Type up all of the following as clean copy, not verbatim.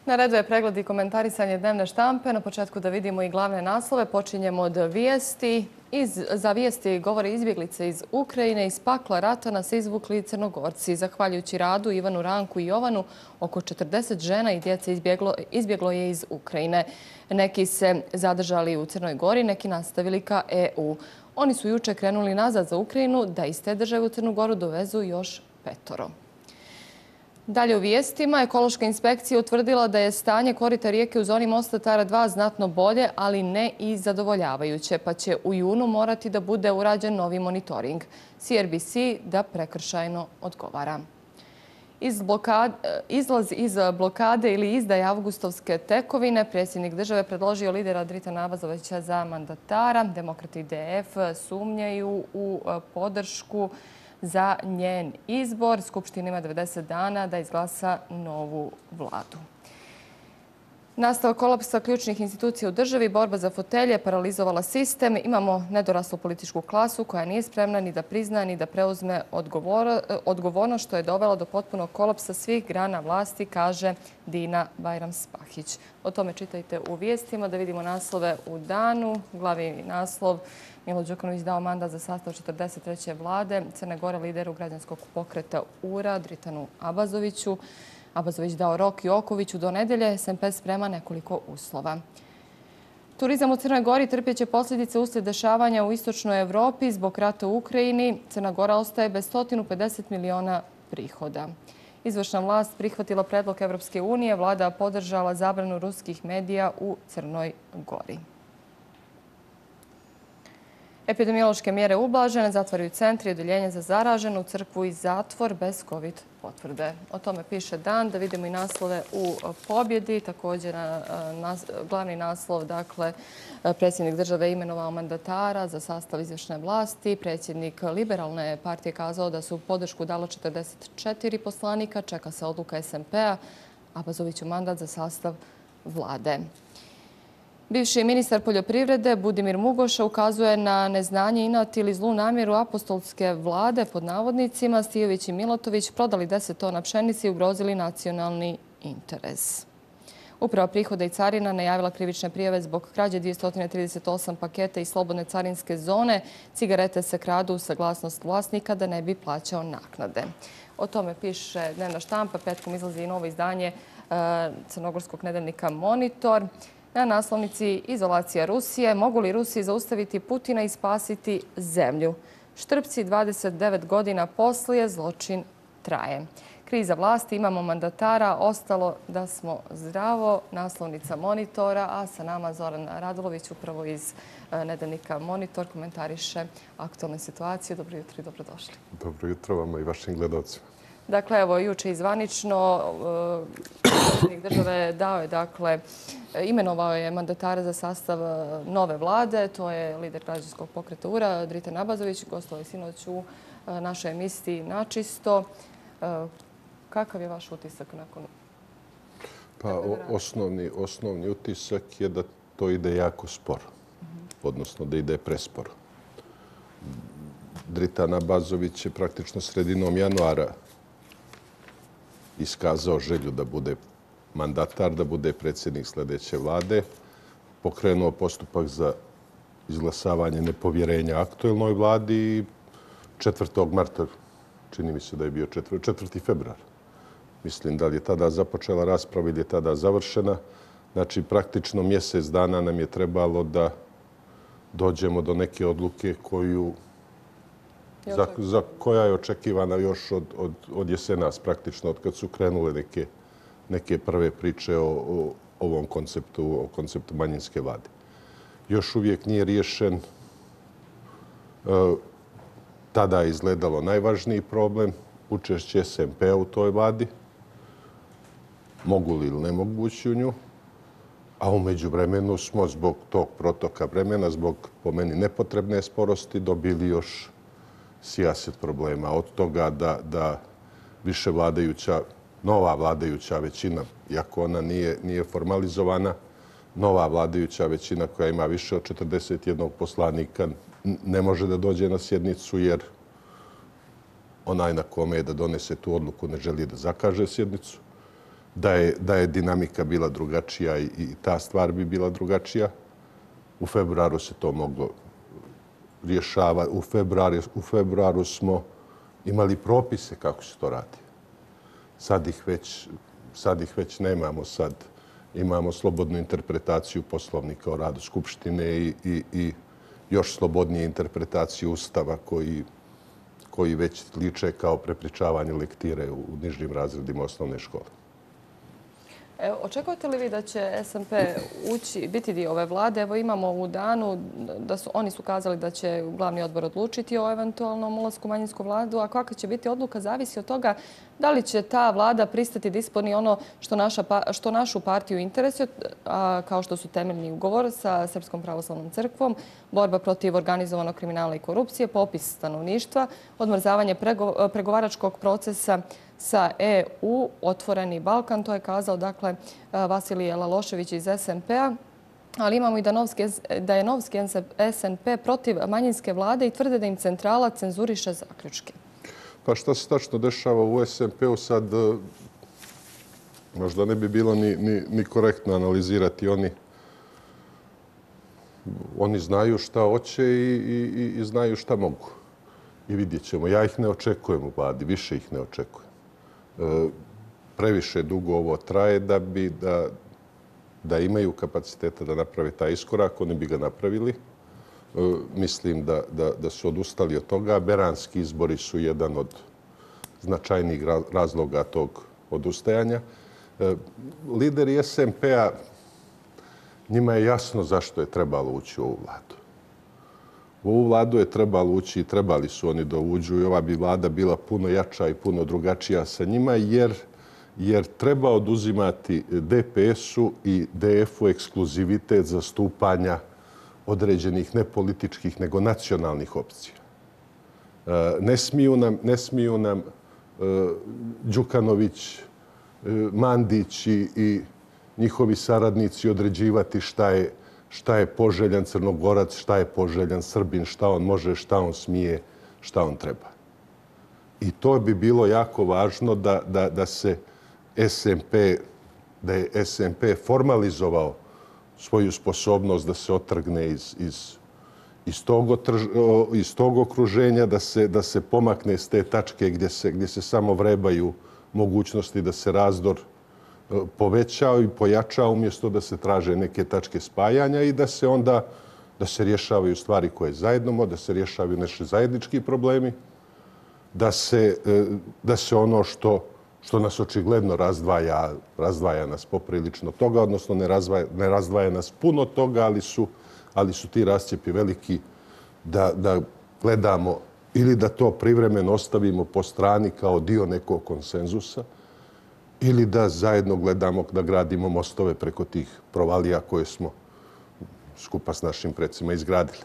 Na redu je pregled i komentarisanje dnevne štampe. Na početku da vidimo i glavne naslove. Počinjemo od vijesti. Za vijesti govore izbjeglice iz Ukrajine. Iz pakla rata nas izvukli Crnogorci. Zahvaljujući radu Ivanu, Ranku i Jovanu, oko 40 žena i djece izbjeglo je iz Ukrajine. Neki se zadržali u Crnoj Gori, neki nastavili ka EU. Oni su juče krenuli nazad za Ukrajinu da iz te države u Crnu Goru dovezu još 5. Dalje u vijestima, ekološka inspekcija utvrdila da je stanje korita rijeke u zoni mosta Tara 2 znatno bolje, ali ne i zadovoljavajuće, pa će u junu morati da bude urađen novi monitoring. CRBC da prekršajno odgovara. Izlaz iz blokade ili izdaje avgustovske tekovine, predsjednik države predložio lidera Dritana Abazovića za mandatara. Demokrati DF sumnjaju u podršku za njen izbor. Skupština ima 90 dana da izglasa novu vladu. Nastavak kolapsa ključnih institucija u državi, borba za fotelje, paralizovala sistem. Imamo nedoraslu političku klasu koja nije spremna ni da prizna ni da preuzme odgovornost, što je dovelo do potpunog kolapsa svih grana vlasti, kaže Dina Bajram-Spahić. O tome čitajte u vijestima. Da vidimo naslove u danu. Glavni naslov: Milo Đukanović dao mandat za sastav 43. vlade Crne Gore lideru građanskog pokreta URA Dritanu Abazoviću. Abazović dao rok Jokoviću do nedelje. SMP sprema nekoliko uslova. Turizam u Crnoj Gori trpjeće posljedice uslijed dešavanja u istočnoj Evropi zbog rata u Ukrajini. Crna Gora ostaje bez 150 miliona prihoda. Izvršna vlast prihvatila predlog Evropske unije. Vlada podržala zabranu ruskih medija u Crnoj Gori. Epidemiološke mjere ublažene, zatvaraju centri i odeljenje za zaraženu, crkvu i zatvor bez COVID potvrde. O tome piše Dan. Da vidimo i naslove u Pobjedi. Također glavni naslov, dakle, predsjednik države imenovao mandatara za sastav izvršne vlasti. Predsjednik Liberalne partije kazao da su podršku dalo 44 poslanika. Čeka se odluka SMP-a. Abazoviću mandat za sastav vlade. Bivši ministar poljoprivrede Budimir Mugoša ukazuje na neznanje, inat ili zlu namjeru apostolske vlade, pod navodnicima. Stijović i Milotović prodali 10 tona pšenice i ugrozili nacionalni interes. Uprava prihoda i carina najavila krivične prijave zbog krađe 238 paketa iz slobodne carinske zone. Cigarete se kradu uz saglasnost vlasnika da ne bi plaćao naknade. O tome piše dnevna štampa. Petkom izlazi i novo izdanje crnogorskog nedeljnika Monitor. Na naslovnici izolacija Rusije. Mogu li Rusi zaustaviti Putina i spasiti zemlju? Štrpci 29 godina poslije, zločin traje. Kriza vlasti, imamo mandatara, ostalo da smo zdravo. Naslovnica Monitora, a sa nama Zoran Radulović, upravo iz nedeljnika Monitor, komentariše aktualnu situaciju. Dobro jutro i dobrodošli. Dobro jutro vama i vašim gledalcima. Dakle, evo, juče izvanično predsjednik države dao je, dakle, imenovao je mandatara za sastav nove vlade. To je lider građanskog pokreta URA, Dritan Abazović. Gostovao je sinoć u našoj emisiji Načisto. Kakav je vaš utisak nakon? Pa osnovni utisak je da to ide jako sporo, odnosno da ide presporo. Dritan Abazović je praktično sredinom januara iskazao želju da bude mandatar, da bude predsjednik sljedeće vlade, pokrenuo postupak za izglasavanje nepovjerenja aktuelnoj vladi i 4. marta, čini mi se da je bio 4. februar. Mislim da li je tada započela rasprava ili je tada završena. Znači, praktično mjesec dana nam je trebalo da dođemo do neke odluke koja je očekivana još od jesenas, praktično, od kad su krenule neke prve priče o ovom konceptu, o konceptu manjinske vlade. Još uvijek nije riješen. Tada je izgledalo najvažniji problem, učešće SMP-a u toj vladi. Mogu li ili ne mogu ući u nju? A u međuvremenu smo zbog tog protoka vremena, zbog po meni nepotrebne sporosti, dobili još sijaset problema. Od toga da više nova vladajuća većina, iako ona nije formalizovana, nova vladajuća većina koja ima više od 41 poslanika ne može da dođe na sjednicu jer onaj na kome je da donese tu odluku ne želi da zakaže sjednicu. da je dinamika bila drugačija i ta stvar bi bila drugačija. U februaru se to moglo rješavati. U februaru smo imali propise kako se to radi. Sad ih već nemamo. Sad imamo slobodnu interpretaciju Poslovnika o radu Skupštine i još slobodnije interpretaciju Ustava koji već liče kao prepričavanje lektire u nižim razredima osnovne škole. Očekujete li vi da će SMP biti dio ove vlade? Evo imamo u danu da oni su kazali da će glavni odbor odlučiti o eventualnom ulasku u manjinsku vladu, a kakva će biti odluka zavisi od toga da li će ta vlada pristati da ispuni ono što našu partiju interesuje, kao što su temeljni ugovor sa Srpskom pravoslavnom crkvom, borba protiv organizovanog kriminala i korupcije, popis stanovništva, odmrzavanje pregovaračkog procesa sa EU, Otvoreni Balkan. To je kazao, dakle, Vasilije Lalošević iz SMP-a. Ali imamo i da je novski SNP protiv manjinske vlade i tvrde da im centrala cenzuriše zaključke. Pa šta se tačno dešava u SMP-u sad, možda ne bi bilo ni korektno analizirati. Oni znaju šta hoće i znaju šta mogu. I vidjet ćemo. Ja ih ne očekujem u vladi, više ih ne očekujem. Previše dugo ovo traje da imaju kapaciteta da naprave taj iskorak, oni bi ga napravili. Mislim da su odustali od toga. Beranski izbori su jedan od značajnijih razloga tog odustajanja. Lideri SMP-a, njima je jasno zašto je trebalo ući u ovu vladu. U ovu vladu je trebalo ući i trebali su oni da uđu i ova bi vlada bila puno jača i puno drugačija sa njima jer treba oduzimati DPS-u i DF-u ekskluzivitet zastupanja određenih ne političkih nego nacionalnih opcija. Ne smiju nam Đukanović, Mandić i njihovi saradnici određivati šta je poželjan Crnogorac, šta je poželjan Srbin, šta on može, šta on smije, šta on treba. I to bi bilo jako važno da je SMP formalizovao svoju sposobnost da se otrgne iz tog okruženja, da se pomakne s te tačke gdje se samo vrebaju mogućnosti da se razdor povećao i pojačao umjesto da se traže neke tačke spajanja i da se rješavaju stvari koje zajedno, da se rješavaju naši zajednički problemi, da se ono što nas očigledno razdvaja nas poprilično toga, odnosno ne razdvaja nas puno toga, ali su ti rascjepi veliki da gledamo ili da to privremeno ostavimo po strani kao dio nekog konsenzusa ili da zajedno gledamo da gradimo mostove preko tih provalija koje smo skupa s našim predsima izgradili.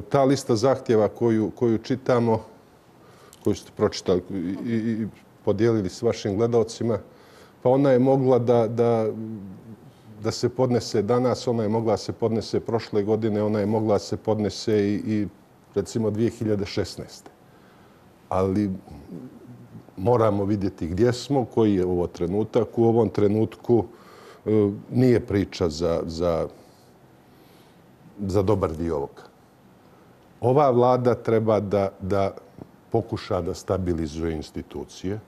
Ta lista zahtjeva koju čitamo, koju ste pročitali i podijelili s vašim gledalcima, pa ona je mogla da se podnese danas, ona je mogla da se podnese prošle godine, ona je mogla da se podnese i recimo 2016. Ali moramo vidjeti gdje smo, koji je ovo trenutak. U ovom trenutku nije priča za dobar dio ovoga. Ova vlada treba da pokuša da stabilizuje institucije,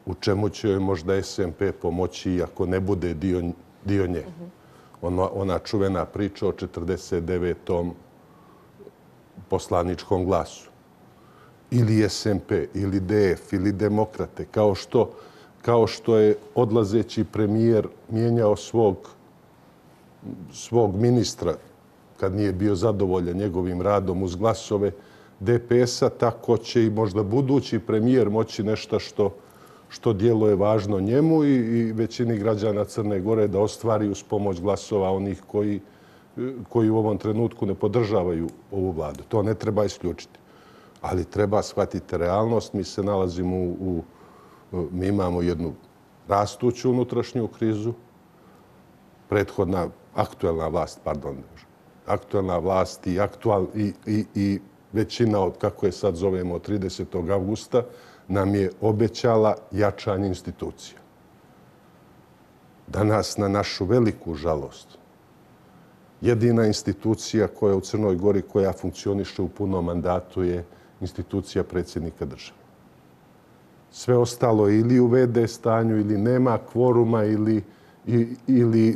u čemu će joj možda SMP pomoći iako ne bude dio nje. Ona čuvena priča o 49. poslaničkom glasu. Ili SMP, ili DF, ili Demokrate, kao što je odlazeći premijer mijenjao svog ministra kad nije bio zadovoljan njegovim radom uz glasove DPS-a, tako će i možda budući premijer moći nešto što djeluje važno njemu i većini građana Crne Gore da ostvari uz pomoć glasova onih koji u ovom trenutku ne podržavaju ovu vladu. To ne treba isključiti. Ali treba shvatiti realnost. Mi imamo jednu rastuću unutrašnju krizu. Aktuelna vlast i većina od, kako je sad zovemo, od 30. avgusta nam je obećala jačanje institucija. Danas, na našu veliku žalost, jedina institucija koja u Crnoj Gori koja funkcioniše u punom mandatu je institucija predsjednika države. Sve ostalo je ili u VD stanju ili nema kvoruma ili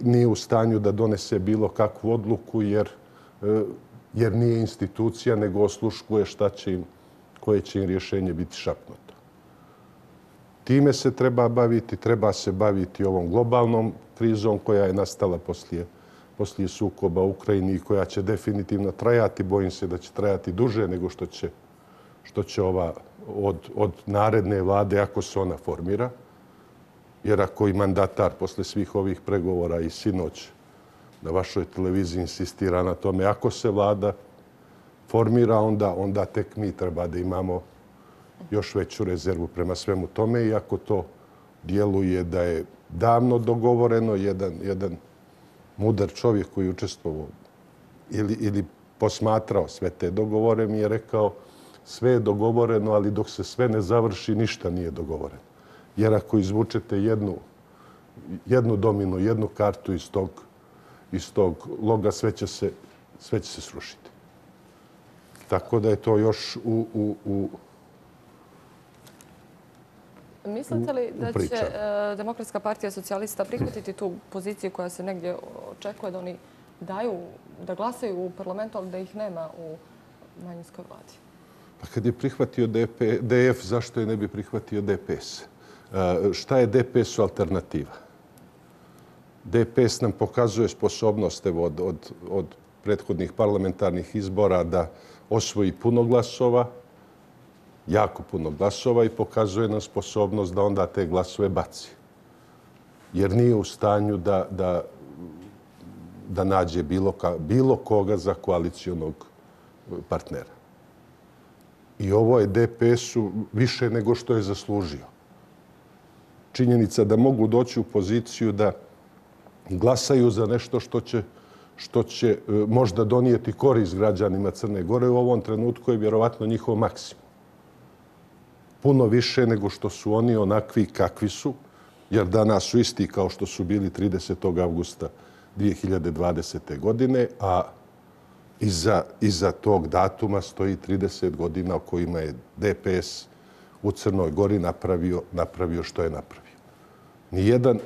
nije u stanju da donese bilo kakvu odluku jer nije institucija nego osluškuje koje će im rješenje biti šapnuto. Time se treba se baviti ovom globalnom krizom koja je nastala poslije sukoba u Ukrajini i koja će definitivno trajati. Bojim se da će trajati duže nego što će ova od naredne vlade, ako se ona formira. Jer ako i mandatar posle svih ovih pregovora i sinoć na vašoj televiziji insistira na tome, ako se vlada formira, onda tek mi treba da imamo još veću rezervu prema svemu tome. I ako to djeluje da je davno dogovoreno, jedan mudar čovjek koji je učestvovao ili posmatrao sve te dogovore mi je rekao sve je dogovoreno, ali dok se sve ne završi, ništa nije dogovoreno. Jer ako izvučete jednu dominu, jednu kartu iz tog loga, sve će se srušiti. Tako da je to još u Mislite li da će Demokratska partija socijalista prihvatiti tu poziciju koja se negdje očekuje da oni da glasaju u parlamentu, ali da ih nema u manjinskoj vladi? Pa kad je prihvatio DF, zašto je ne bi prihvatio DPS? Šta je DPS-u alternativa? DPS nam pokazuje sposobnost od prethodnih parlamentarnih izbora da osvoji puno glasova, jako puno glasova i pokazuje nam sposobnost da onda te glasove baci. Jer nije u stanju da nađe bilo koga za koalicijonog partnera. I ovo je DPS-u više nego što je zaslužio. Činjenica da mogu doći u poziciju da glasaju za nešto što će možda donijeti korist građanima Crne Gore u ovom trenutku je vjerovatno njihov maksimum. Puno više nego što su oni onakvi kakvi su, jer danas su isti kao što su bili 30. avgusta 2020. godine, a iza tog datuma stoji 30 godina o kojima je DPS u Crnoj Gori napravio što je napravio. Nijedan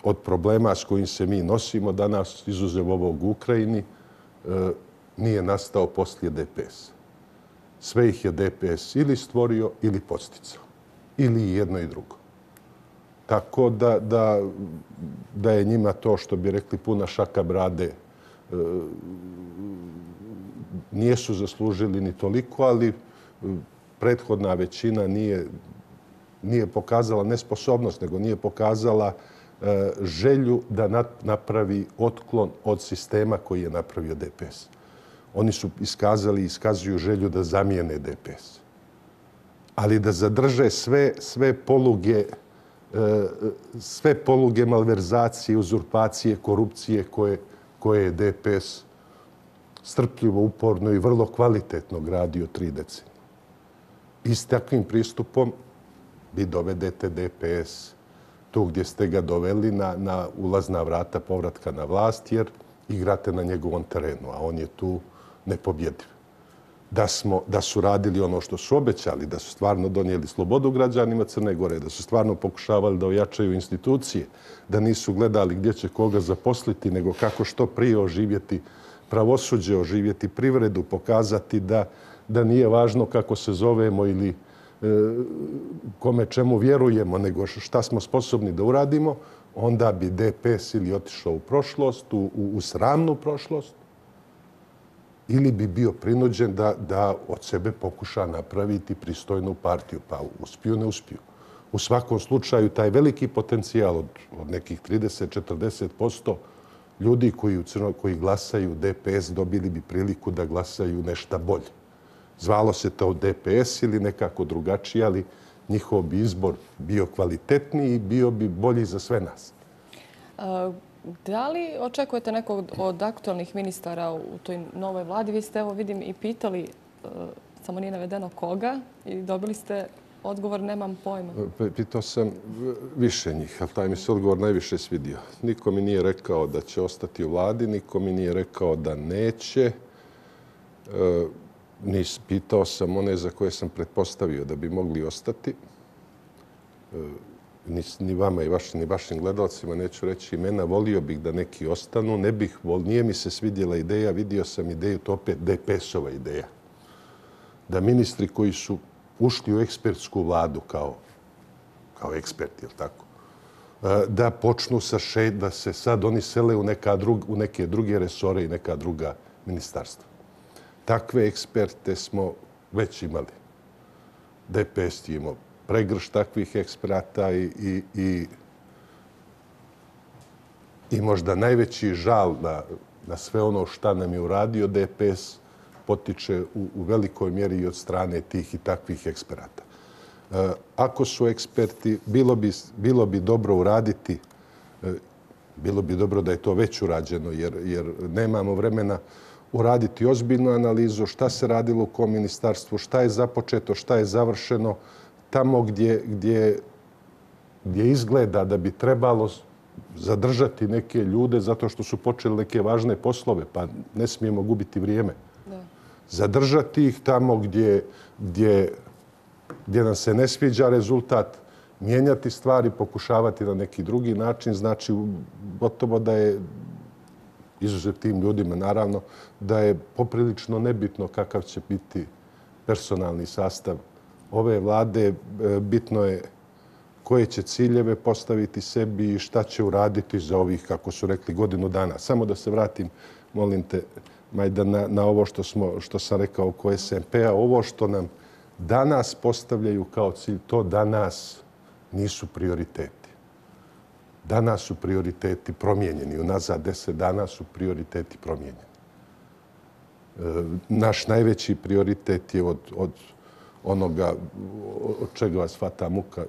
od problema s kojim se mi nosimo danas, izuzev ovog u Ukrajini, nije nastao poslije DPS. Sve ih je DPS ili stvorio ili podsticao. Ili jedno i drugo. Tako da je njima to, što bi rekli, puna šaka brade. Nijesu zaslužili ni toliko, ali prethodna većina nije pokazala nesposobnost, nego nije pokazala želju da napravi otklon od sistema koji je napravio DPS. Oni su iskazali i iskazuju želju da zamijene DPS. Ali da zadrže sve poluge malverzacije, uzurpacije, korupcije koje je DPS strpljivo, uporno i vrlo kvalitetno gradio 3 decenije. I s takvim pristupom vi dovedete DPS tu gdje ste ga doveli na ulazna vrata povratka na vlast, jer igrate na njegovom terenu, a on je tu nepobjediv. Da su radili ono što su obećali, da su stvarno donijeli slobodu građanima Crne Gore, da su stvarno pokušavali da ojačaju institucije, da nisu gledali gdje će koga zaposliti, nego kako što prije oživjeti pravosuđe, oživjeti privredu, pokazati da nije važno kako se zovemo ili kome čemu vjerujemo, nego šta smo sposobni da uradimo, onda bi DPS ili otišao u prošlost, u sramnu prošlost, ili bi bio prinuđen da od sebe pokuša napraviti pristojnu partiju. Pa uspiju, ne uspiju. U svakom slučaju, taj veliki potencijal od nekih 30-40% ljudi koji glasaju DPS dobili bi priliku da glasaju nešto bolje. Zvalo se to DPS ili nekako drugačije, ali njihov bi izbor bio kvalitetniji i bio bi bolji za sve nas. Da li očekujete nekog od aktualnih ministara u toj novoj vladi? Vi ste, evo vidim, i pitali, samo nije navedeno koga, i dobili ste odgovor nemam pojma. Pitao sam više njih, ali taj mi se odgovor najviše svidio. Niko mi nije rekao da će ostati u vladi, niko mi nije rekao da neće. Pitao sam one za koje sam pretpostavio da bi mogli ostati. Ni vama ni vašim gledalcima neću reći imena. Volio bih da neki ostanu. Nije mi se svidjela ideja, vidio sam ideju, to opet DPS-ova ideja. Da ministri koji su ušli u ekspertsku vladu kao eksperti, jel tako? Da počnu da se sad oni sele u neke druge resore i neka druga ministarstva. Takve eksperte smo već imali. DPS je imao pregrš takvih eksperata i možda najveći žal na sve ono šta nam je uradio DPS potiče u velikoj mjeri i od strane tih i takvih eksperata. Ako su eksperti, bilo bi dobro uraditi, bilo bi dobro da je to već urađeno, jer nemamo vremena uraditi ozbiljnu analizu šta se radilo u kom ministarstvu, šta je započeto, šta je završeno, tamo gdje izgleda da bi trebalo zadržati neke ljude zato što su počeli neke važne poslove, pa ne smijemo gubiti vrijeme. Zadržati ih tamo gdje nam se ne sviđa rezultat, mijenjati stvari, pokušavati na neki drugi način. Znači, gotovo da je, izuzev tim ljudima naravno, da je poprilično nebitno kakav će biti personalni sastav ove vlade. Bitno je koje će ciljeve postaviti sebi i šta će uraditi za ovih, kako su rekli, godinu dana. Samo da se vratim, molim te, Majda, na ovo što sam rekao oko SMP-a. Ovo što nam danas postavljaju kao cilj, to danas nisu prioriteti. Danas su prioriteti promijenjeni. Unazad 10 dana su prioriteti promijenjeni. Naš najveći prioritet je od onoga od čega vas hvata muka,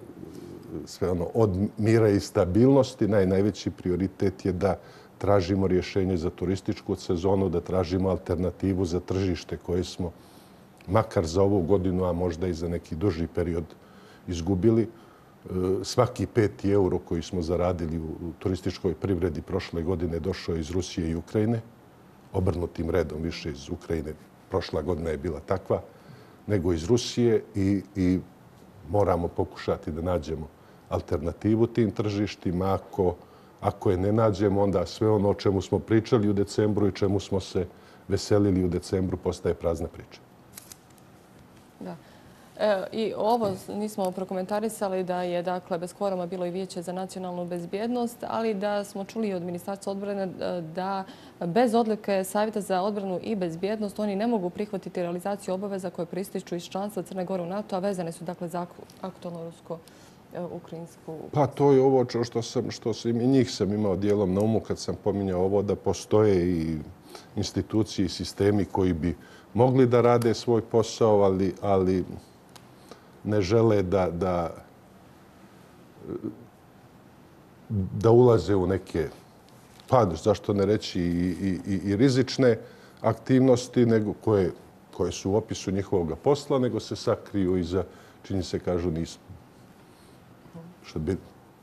sve ono, od mira i stabilnosti. Najveći prioritet je da tražimo rješenje za turističku sezonu, da tražimo alternativu za tržište koje smo makar za ovu godinu, a možda i za neki duži period izgubili. Svaki 5 euro koji smo zaradili u turističkoj privredi prošle godine došao je iz Rusije i Ukrajine. Obrnutim redom više iz Ukrajine. Prošla godina je bila takva nego iz Rusije i moramo pokušati da nađemo alternativu tim tržištima. Ako je ne nađemo, onda sve ono o čemu smo pričali u decembru i čemu smo se veselili u decembru postaje prazna priča. Da. I ovo nismo prokomentarisali da je dakle bez kvoruma bilo i Vijeće za nacionalnu bezbjednost, ali da smo čuli od Ministarstva odbrane da bez odluke Savjeta za odbranu i bezbjednost oni ne mogu prihvatiti realizaciju obaveza koje prističu iz članstva Crne Gore u NATO, a vezane su dakle za aktualno rusko-ukrajinsku. Pa to je ovo što i njih sam imao dijelom na umu kad sam pominjao ovo da postoje i institucije i sistemi koji bi mogli da rade svoj posao, ali ne žele da ulaze u neke, pa zašto ne reći i rizične aktivnosti koje su u opisu njihovog posla, nego se sakriju iza, čini se kažu nismo. Što bi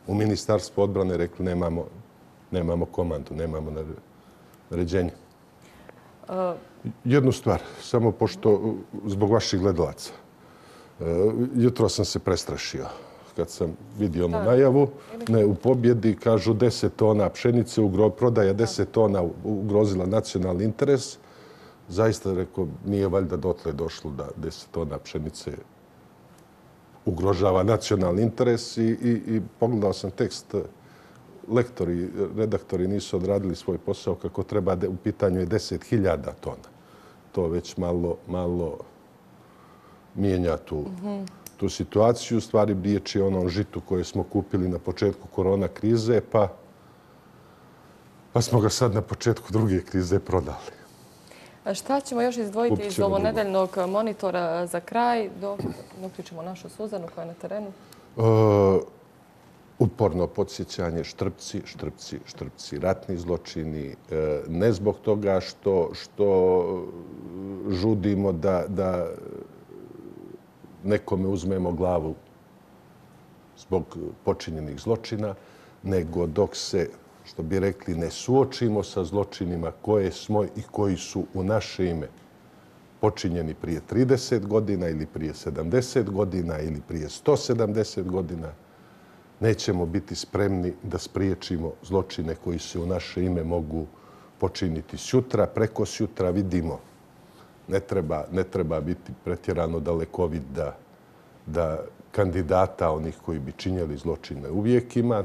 u Ministarstvu odbrane rekli nemamo komandu, nemamo naređenje. Jednu stvar, samo pošto zbog vaših gledalaca. Jutro sam se prestrašio kad sam vidio onu najavu. U pobjedi kažu 10 tona pšenice, prodaja 10 tona ugrozila nacionalni interes. Zaista, rekao, nije valjda dotle došlo da 10 tona pšenice ugrožava nacionalni interes i pogledao sam tekst. Lektori, redaktori nisu odradili svoj posao kako treba. U pitanju je 10.000 tona. To već malo mijenja tu situaciju. U stvari riječ je o onom žitu koje smo kupili na početku korona krize, pa smo ga sad na početku druge krize prodali. Šta ćemo još izdvojiti iz ovonedeljnog monitora za kraj, dok uključimo našu Suzanu koja je na terenu? Uporno podsjećanje, štrpci, štrpci, štrpci, ratni zločini. Ne zbog toga što žudimo da nekome uzmemo glavu zbog počinjenih zločina, nego dok se, što bi rekli, ne suočimo sa zločinima koje smo i koji su u naše ime počinjeni prije 30 godina ili prije 70 godina ili prije 170 godina, nećemo biti spremni da spriječimo zločine koji se u naše ime mogu počiniti sutra, preko sutra. Vidimo, ne treba biti pretjerano dalekovid da kandidata onih koji bi činjeli zločine uvijek ima.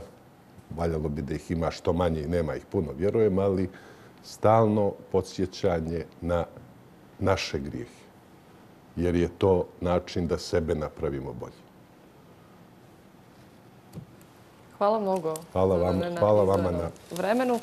Valjalo bi da ih ima što manje i nema ih puno, vjerujem, ali stalno podsjećanje na naše grijehe. Jer je to način da sebe napravimo bolje. Hvala mnogo. Hvala vama na vremenu.